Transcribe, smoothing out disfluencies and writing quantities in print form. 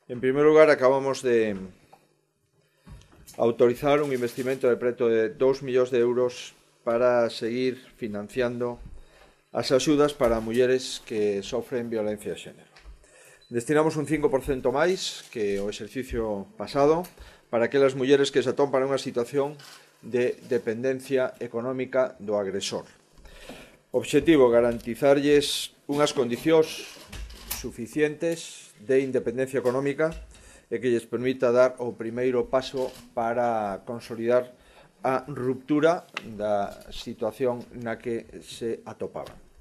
En primer lugar, acabamos de autorizar un investimento de preto de 2 millóns de euros para seguir financiando as axudas para mulleres que sofren violencia de xénero. Destinamos un 5% máis que o exercicio pasado para aquelas mulleres que se atopan nunha situación de dependencia económica do agresor. Obxectivo, garantizarlles unhas condicións suficientes de independencia económica e que lles permita dar o primeiro paso para consolidar a ruptura da situación na que se atopaban.